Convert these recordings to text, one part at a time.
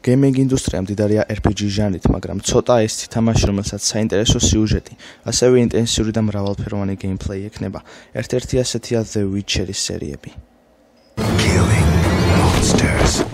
Gaming ინდუსტრია მდიდარია RPG ჟანრით, მაგრამ ცოტა ეს თამაში, რომელსაც საინტერესო სიუჟეტი, ასევე ინტენსიური და მრავალფეროვანი გეიმპლეი ექნება. ერთ-ერთი ასეთია The Witcher-ის სერიები. Killing monsters.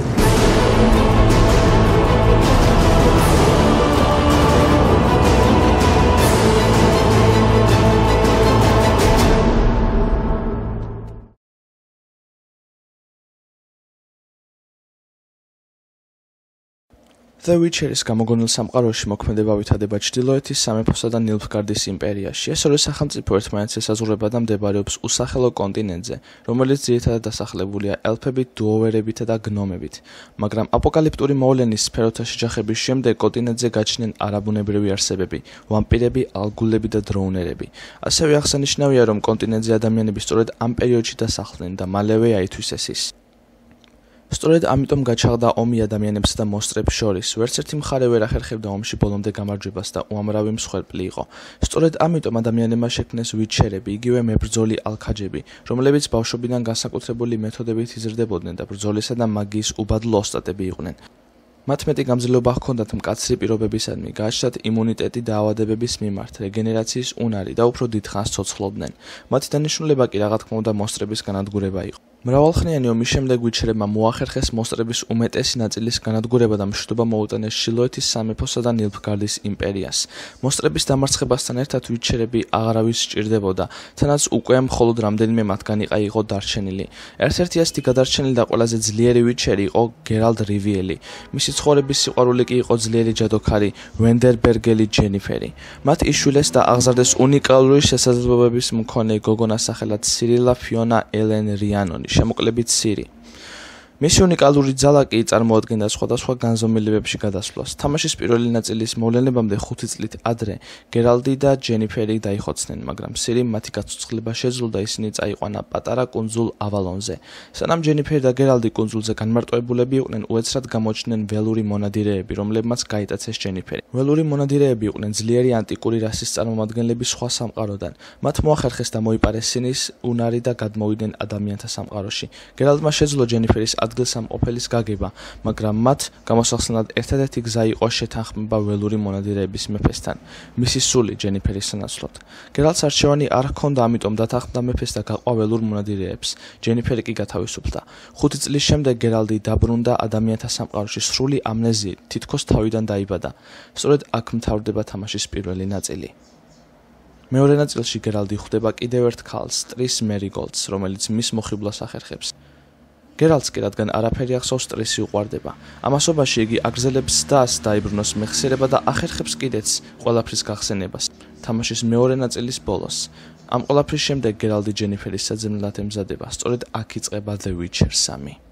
The Witcher-ის გამოგონილ სამყაროში მოქმედება ვითარდება ჩრდილოეთის სამეფოსა და ნილფგარდის იმპერიაში. ეს ორი სახელმწიფო ერთმანეთს ესაზღვრება და მდებარეობს უსახელო კონტინენტზე, რომელიც ძირითადად დასახლებულია ელფებით, დუოვერებითა და გნომებით. მაგრამ აპოკალიპტური მოვლენის სფეროთა შეჯახების შემდეგ კონტინენტზე გაჩნდნენ არაბუნებრივი არსებები, ვამპირები, ალგულები და დროუნერები. ასევე აღსანიშნავია, რომ კონტინენტზე ადამიანები სწორედ ამ პერიოდში დასახლდნენ და მალევე აითვისეს ის. სწორედ ამიტომ გაჩაღდა ომი ადამიანებსა და მონსტრებს შორის. ვერც ერთი მხარე ვერ ახერხებდა ომში ბოლომდე გამარჯვებას და უამრავი მსხვერპლი იყო. სწორედ ამიტომ ადამიანებმა შექმნეს ვიჩერები, იგივე მებრძოლი ალქაჯები, რომლებიც ბავშვობიდან განსაკუთრებული მეთოდებით იზრდებოდნენ და ბრძოლისა და მაგიის უბადლო ოსტატები იყვნენ. მათ მეტი გამძლეობა ჰქონდათ მკაცრი პირობებისადმი, გააჩნდათ იმუნიტეტი დაავადებების მიმართ, რეგენერაციის უნარი და უფრო დიდხანს ცოცხლობდნენ. მათი დანიშნულება კი რა თქმა უნდა მონსტრების განადგურება იყო. მრავალხნიანი ომის შემდეგ ვიჩერებმა მოახერხეს მონსტრების უმეტესი ნაწილის განადგურება და მშვიდობა მოუტანეს ჩრდილოეთის სამეფოსა და ნილფგარდის იმპერიას. მონსტრების დამარცხებასთან ერთად ვიჩერები აღარავის სჭირდებოდა, თანაც უკვე მხოლოდ რამდენიმე მათგანი იყო დარჩენილი. ერთ-ერთი ასეთი გადარჩენილი და ყველაზე ძლიერი ვიჩერი იყო გერალტ რივიელი. მისი ცხოვრების სიყვარული კი იყო ძლიერი ჯადოქარი ვენდერბერგელი ჯენიფერი. მათ იშვილეს და აღზარდეს უნიკალური შესაძლებლობების მქონე გოგონა სახელად სირილა ფიონა ელენ რიანონი, შემოკლებით სირი. მისი უნიკალური ძალა კი წარმოადგენდა სხვადასხვა განზომილებებში გადასვლას. თამაშის პირველი ნაწილის მოვლენებამდე 5 წლით ადრე გერალტი და ჯენიფერი დაიხოცნენ, მაგრამ სირიმ მათი გაცოცხლება შეძლო და ისინი წაიყვანა პატარა კუნძულ ავალონზე. სანამ ჯენიფერი და გერალტი კუნძულზე განმარტოებულები იყვნენ, უეცრად გამოჩნდნენ ველური მონადირეები, რომლებმაც გაიტაცეს ჯენიფერი. ველური მონადირეები იყვნენ ძლიერი ანტიკური რასის წარმომადგენლები სხვა სამყაროდან. მათ მოახერხეს და მოიპარეს სინის უნარი და გადმოვიდნენ ადამიანთა სამყაროში. გერალტმა შეძლო ჯენიფერის ადგილსამყოფელის გაგება, მაგრამ მათ გამოსახსნელად ერთადერთი გზა იყო შეთანხმება ველური მონადირეების მეფესთან, მისი სული ჯენიფერის სანაცვლოდ. გერალტს არჩევანი არ ჰქონდა, ამიტომ დათანხმდა მეფეს და გაყვა ველურ მონადირეებს. ჯენიფერი კი გათავისუფლდა. 5 წლის შემდეგ გერალტი დაბრუნდა ადამიანთა სამყაროში სრული ამნეზიით, თითქოს თავიდან დაიბადა. სწორედ აქ მთავრდება თამაშის პირველი ნაწილი. მეორე ნაწილში გერალტი ხვდება კიდევ ერთ ქალს, ტრիս მერიგოლდს, რომელიც მის მოხიბლას ახერხებს. გერალტს კი რადგან არაფერი ახსოვს, ტრისი უყვარდება. ამასობაში იგი აგრძელებს დასს დაიბრუნოს მეხსიერება და ახერხებს კიდეც ყველაფრის გახსენებას. თამაშის მეორე ნაწილის ბოლოს. ამ ყველაფრის შემდეგ გერალტი ჯენიფერის საძებნელად ემზადება. სწორედ აქ იწყება The Witcher 3.